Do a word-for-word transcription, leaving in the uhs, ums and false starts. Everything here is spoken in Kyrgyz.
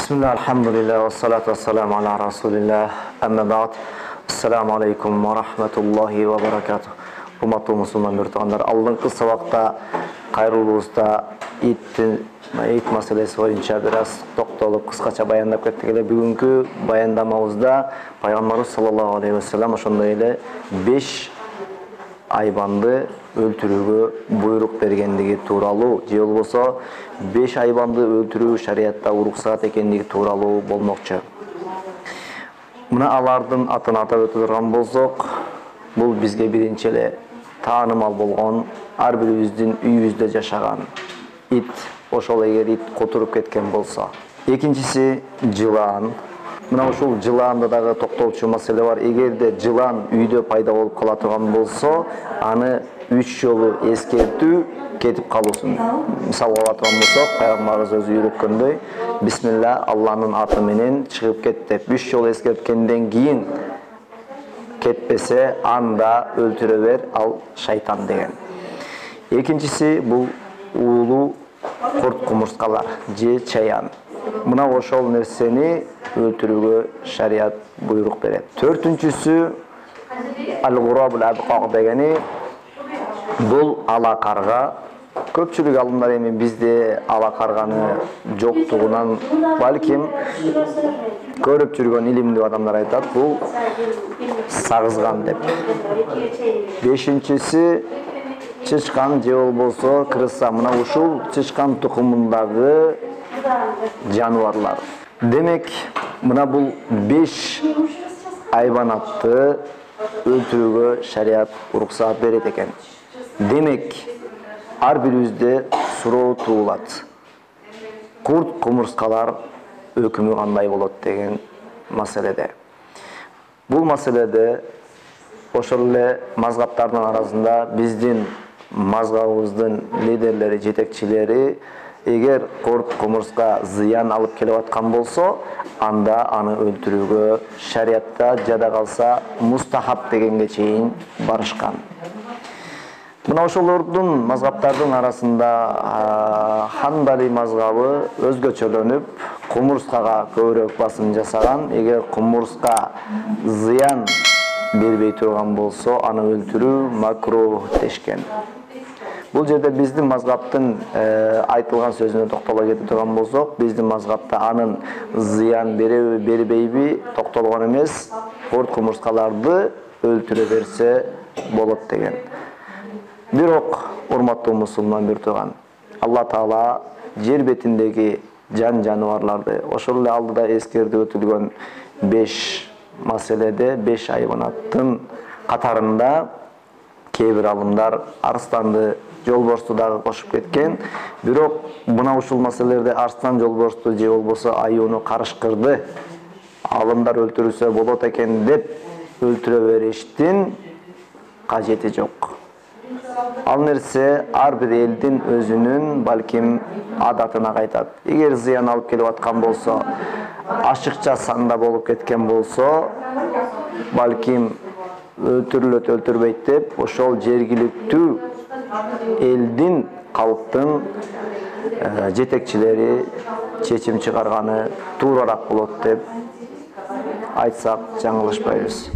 Bismillah, alhamdulillah, wa salatu wa salamu ala rasulillah, amma ba'd. Assalamu alaikum wa rahmatullahi wa barakatuh. Урматтуу мусулман биртугандар, алдыңкы сабакта кайрылуубузда ит ит маселеси боюнча бир аз токтолуп кыскача баяндап кеттик эле. Бүгүнкү баяндамабызда пайгамбарыбыз саллаллаху алейхи ва саллям ошондой эле беш айбанды өлтүрүүгө буйрук бергендиги тууралуу, же болбосо беш айбанды өлтүрүү шариятта уруксат экендиги тууралуу болмокчу. Мына алардын атын атап өтө турган болсок, бул бизге биринчи эле таанымал болгон, ар бирибиздин үйүбүздө жашаган ит. Ошол эгер ит котуруп кеткен болсо. Экинчиси жылан. Мына ушул жылаанда дагы токтолчу маселе бар. Эгерде жылан үйдө пайда болуп кала турган болсо, аны үч жолу эскертүү кетип калуусун. Мисалга ала турган болсок, пайгамбарыбыз өзү үйрөткөндөй, бисмилла, Алланын аты менен чыгып кет деп үч жолу эскерткенден кийин кетпесе, анда өлтүрө бер, ал шайтан деген. Экинчиси бул уулуу курт кумурскалар же чаян. Мына ошол нерсени өлтүрүүгө шарият буйрук берет. Төртүнчүсү ал-гурабул абқақ дегени, бул ала карга. Көпчүлүк алымдар эми бизде ала карганы жоктугунан балким көрүп жүргөн илимдүү адамдар айтат, бул сагызган деп. Бешинчиси чычкан же болбосо крыса. Мына ушул чычкан тукумундагы жаныбарлар. Демек, мына бул беш айбанатты өлтүрүүгө шарият уруксат берет экен. Демек, ар бирибизде суроо туулат. Курт кумурскалар өкүмү кандай болот деген маселеде. Бул маселеде ошол эле мазгаптардын арасында биздин мазгабыбыздын лидерлери, жетекчилери, эгер курт кумурска зыян алып келип аткан болсо, анда аны өлтүрүүгө шариятта жада калса мустахаб дегенге чейин барышкан. Мына ошолордун мазгаптардын арасында Ханбали мазгабы өзгөчөлөнүп, кумурскага көбүрөөк басым жасаган. Эгер кумурска зыян бербей турган болсо, аны өлтүрүү макрух дешкен. Бул жерде биздин мазгаптын айтылган сөзүнө токтоло кетип турган болсок, биздин мазгапта анын зыян береби, бербейби токтолгон эмес, курт кумурскаларды өлтүрө берсе болот деген. Бирок, урматтуу мусулман биртуган, Алла Таала жер бетиндеги жан жаныбарларды, ошол эле алдыда эскертип өтүлгөн беш маселеде, беш айбанаттын катарында кээ бир алымдар арстанды, жолборсту дагы кошуп кеткен. Бирок мына ушул маселелерде арстан, жолборсту же болбосо аюуну карышкырды алымдар өлтүрүлсө болот экен деп өлтүрө бериштин кажети жок. Ал нерсе ар бир элдин өзүнүн балким адатына кайтат. Эгер зыян алып келип аткан болсо, ашыкча санда болуп кеткен болсо, балким өлтүрүлөт, өлтүрбөйт деп ошол жергиликтүү элдин, калктын жетекчилери чечим чыгарганы тууралаак болот деп айтсак жаңылышпайбыз.